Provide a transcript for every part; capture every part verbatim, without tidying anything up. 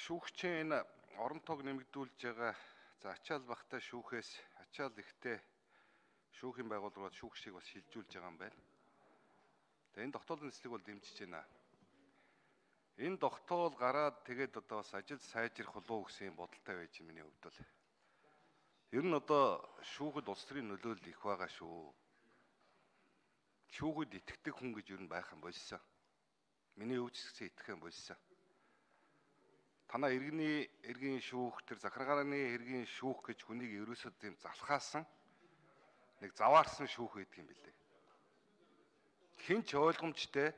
шүүгчийн энэ орон тоог нэмэгдүүлж байгаа за ачаал багтаа шүүхээс ачаал ихтэй шүүхийн байгууллагууд шүүгчийг бас шилжүүлж байгаа юм байна. Тэгээ энэ тогтоолын нислэг бол дэмжиж байна. Энэ тогтоол гараад тэгээд одоо бас ажил сайжрах болов уу гэсэн бодолтой байж миний хувьд бол. Ер нь одоо шүүхэд улс төрийн нөлөөлөл их байгаа шүү. Шүүхэд итгэдэг хүн гэж ер нь байх юм болсон. Миний өвчсгсээ итгэх юм болсон. Танаа иргэний эргийн шүүх тэр захиргааны эргийн шүүх гэж хүнийг ерөөсөө тийм залхаасан нэг заваарсан шүүх гэдэг юм билээ. Хэн ч ойлгомжтой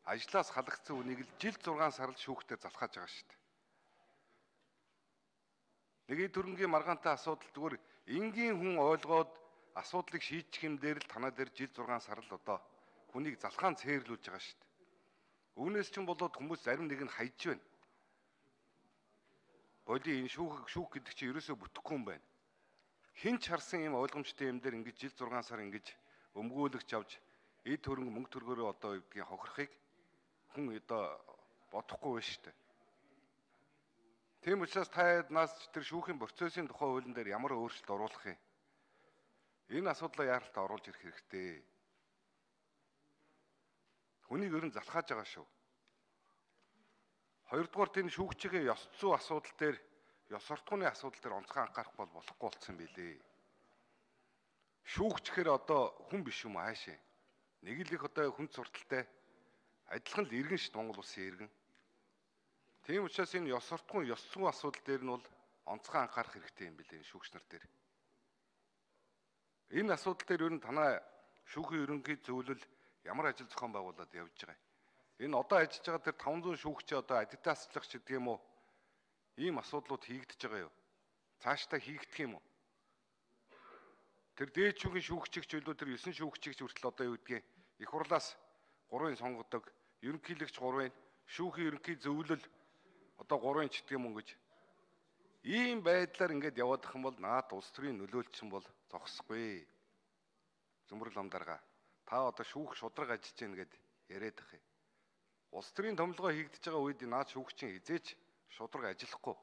ажлаас халагдсан хүнийг л жил зургаан сар л шүүхтээр залхааж байгаа шүү дээ. Нэгийн төрөнгийн маргаантай асуудал зүгээр энгийн хүн ойлгоод асуудлыг шийдчих юм дээр л танаа дээр жил зургаан сар л одоо хүнийг залхаан цээрлүүлж байгаа шүү дээ. Үүнээс ч юм болоод хүмүүс зарим нэг нь хайж байна. Боли энэ шүүх шүүх гэдэг чинь ерөөсөө бүтэхгүй юм байна. Хин ч харсан юм ойлгомжтой юм дээр ингэж жил зургаан сар ингэж өмгөөлөгч авч эд хөрөнгө мөнгө төргөөрөө одоо үгдгийн хохирохыг хүн одоо бодохгүй байна шүү дээ. Тийм учраас та нас тэр шүүхийн процессын тухай хуулийн дээр ямар өөрчлөлт оруулах юм? Энэ асуудлаа яаралтай оруулж ирэх хэрэгтэй. Хүнийг ер нь залхааж байгаа шүү. Хоёрдугаар тийм шүүгчийн ёс зүй асуудал дээр ёс суртахууны асуудал дээр онцгой анхаарах бол болохгүй болсон билээ. Шүүгчхээр одоо хүн биш юм аашаа. Нэг л их одоо хүн сурталтай адилхан л иргэн шүү Монгол улсын иргэн. Тийм учраас энэ ёс суртахуун ёс зүйн асуудал дээр нь бол онцгой анхаарах хэрэгтэй юм билээ шүүгч нар дээр. Энэ асуудал дээр ер нь танаа шүүхийн ерөнхий зөвлөл ямар ажил зохион байгуулад явж байгаа юм? Энэ одоо ажиллаж байгаа тэр таван зуун шүүгчээ одоо адитааслах ч гэдэг юм уу? Ийм асуудлууд хийгдэж байгаа юу? Цаашдаа хийгдэх юм уу? Тэр дээд шүүхийн шүүгчийг ч үлдээ тэр есөн шүүгчийг ч хүртэл одоо юу гэдгийг их хурлаас гурвын сонгодог, ерөнхийлөгч гурвын, шүүхийн ерөнхий зөвлөл одоо гурвын ч гэдэг юм уу гэж. Ийм байдлаар ингээд яваад их юм бол наад улс төрийн нөлөөлчин бол зогсохгүй. Зөмбөрл амдарга. Та одоо шүүх шудраг ажиллаж гин гэд яриад ах юм. Улс төрийн томилгоо хийгдэж байгаа үед наад шүүгчийн хизээч шудраг ажиллахгүй.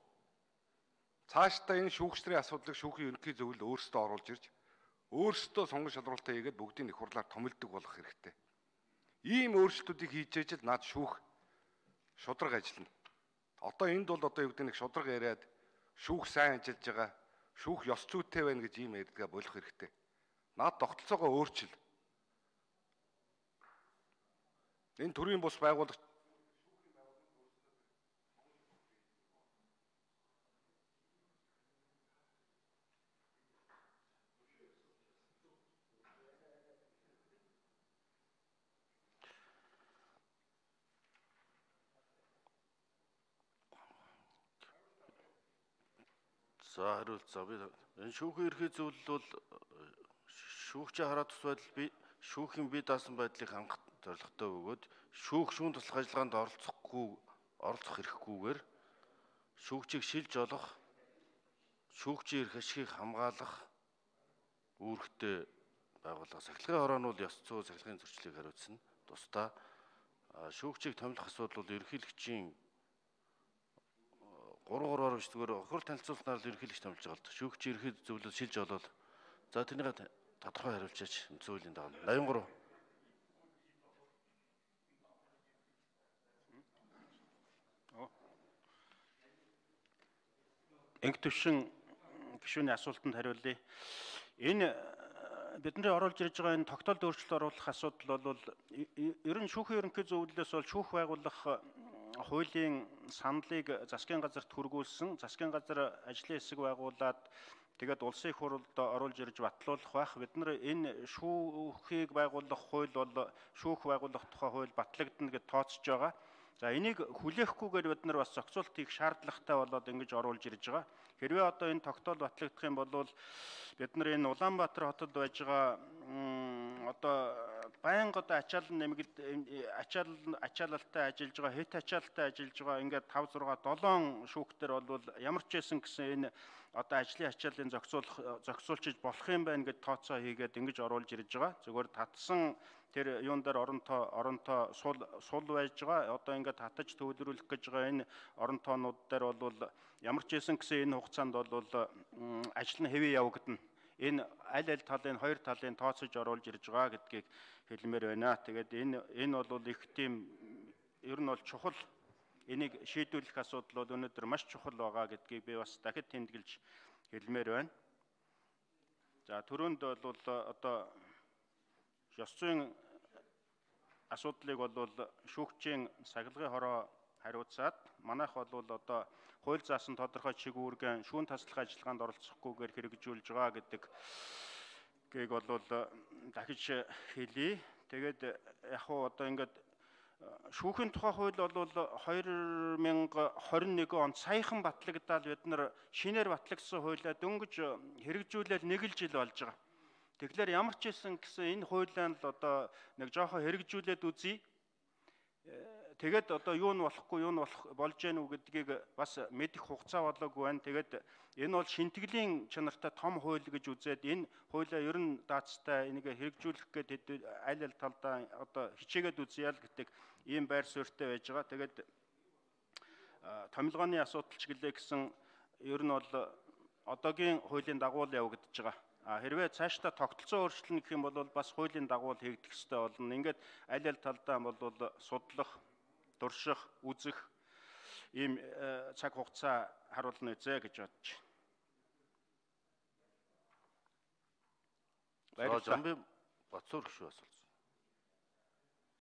Цаашдаа энэ шүүгчдийн асуудлыг шүүхийн ерөнхий зөвлөл өөрсдөө оруулж ирж өөрсдөө сонгон шалралтаа хийгээд бүгдийг их хурлаар томилдог болох хэрэгтэй. Ийм өөрчлөлтүүдийг хийж ижил наад шүүх шудраг ажиллана. Одоо энд бол одоо юу гэдэг нэг шудраг яриад шүүх сайн ажиллаж байгаа, шүүх ёс зүйтэй байна гэж ийм ярьдгаа болох хэрэгтэй. Наад тогтолцоогоо өөрчил. Энэ төрийн бус байгууллага За хариулт за би энэ шүүхийн ерхий зөвлөл бол шүүгчээ хараад тус байдал би шүүхийн бие даасан байдлыг хангах зорилготой бөгөөд шүүх шүүн туслах ажиллагаанд оролцохгүй оролцох эрхгүйгээр шүүгчийг шилж олох, шүүгчийн эрх ашигыг хамгаалах үүрэгтэй байгууллага. Сахилгын хороо нь бол ёс зүй сахилгын зөрчлийг хариуцна. Тусдаа шүүгчийг томилох асуудал бол ерөнхийлөгчийн гурван гурваар биш зүгээр хурал танилцуулснаар л ерөнхийлөгч томилж байгаа л шүүгчийн ерхий зөвлөл шилж олоод за тэрнийг тодорхой хариулчаач зөвлөлийн дагуу восемьдесят три. Инг төвшин гишүүний асуултанд хариулъя. Энэ бидний оруулж ирж байгаа энэ тогтоолд өөрчлөлт оруулах асуудал бол ер нь шүүхийн ерөнхий зөвлөлөөс бол шүүх байгуулах хуулийн саналыг засгийн газарт хүргүүлсэн. Засгийн газар ажлын хэсэг байгуулад тэгээд улсын их хурлд оруулж ирж батлуулах байх. Бид нар энэ шүүхийг байгуулах хууль бол шүүх байгуулах тухай хууль батлагдана гэж тооцож байгаа. За энийг хүлээхгүйгээр бид нар бас зохицуулт хийх шаардлагатай болоод ингэж оруулж ирж байгаа. Хэрвээ одоо энэ тогтоол батлагдах юм бол бид нар энэ Улаанбаатар хотод байж байгаа одоо байнга одоо ачаалал нэмэгд ачаалал ачаалалтай ажиллаж байгаа, хэт ачаалалтай ажиллаж байгаа ингээд five six seven шүүхтэр бол ямар ч байсан гэсэн энэ одоо ажлын ачааллын зохицуулах зохицуулчиж болох юм байна гэд тооцоо хийгээд ингэж оруулж ирж байгаа. Зүгээр татсан тэр юун дээр оронтоо оронтоо сул сул байж байгаа. Одоо ингээд татаж төвлөрүүлэх гэж байгаа энэ оронтоонууд дээр бол ямар ч байсан гэсэн энэ хугацаанд бол ажил нь хэвээ явагдана. Энэ аль аль талын хоёр талын тооцож оруулж ирж байгаа гэдгийг хэлмээр байна. Тэгээд энэ энэ бол их тийм ер нь бол чухал энийг шийдвэрлэх асуудал бол өнөөдөр маш чухал байгаа гэдгийг би бас дахид тэмдэглэж хэлмээр байна. За түрүүнд бол одоо ёс зүйн асуудлыг бол шүүгчийн сахилгын хороо хариуцаад манайх бол одоо хууль заасан тодорхой чиг үүргэн шүүн таслах ажиллагаанд оролцохгүйгээр хэрэгжүүлж байгаа гэдэг гийг бол дахиж хэлье. Тэгээд яг хуу одоо ингээд шүүхийн тухай хууль бол two thousand twenty-one онд саяхан батлагдаад бид нар шинээр батлагдсан хуулиа дөнгөж хэрэгжүүлэл нэг л жил болж байгаа. Тэгэхээр ямар ч байсан гэсэн энэ хуулиан л одоо нэг жоохон хэрэгжүүлээд үзье. Тэгээд одоо юу нь болохгүй юу нь болох болж гэнэ үү гэдгийг бас мэдэх хугацаа болоогүй байна. Тэгээд энэ бол шинтгэлийн чанартай том хууль гэж үзээд энэ хуулиа ер нь даацтай энийг хэрэгжүүлэх гэдэг аль аль талдаа одоо хичээгээд үзье л гэдэг ийм байр суурьтай байж байгаа. Тэгээд томилгооны асуудал ч гэлээ гэсэн ер нь бол одоогийн хуулийн дагуу л явагдаж байгаа. А хэрвээ цаашдаа тогтолцоо өөрчлөлт гэх юм бол бас хуулийн дагуу хийгдэх ёстой болно. Ингээд аль аль талдаа бол судлах, дурших, үзэх ийм цаг хугацаа харуулна үзье гэж бодож байна. Баярлалаа. Боцоор гүш асуулт.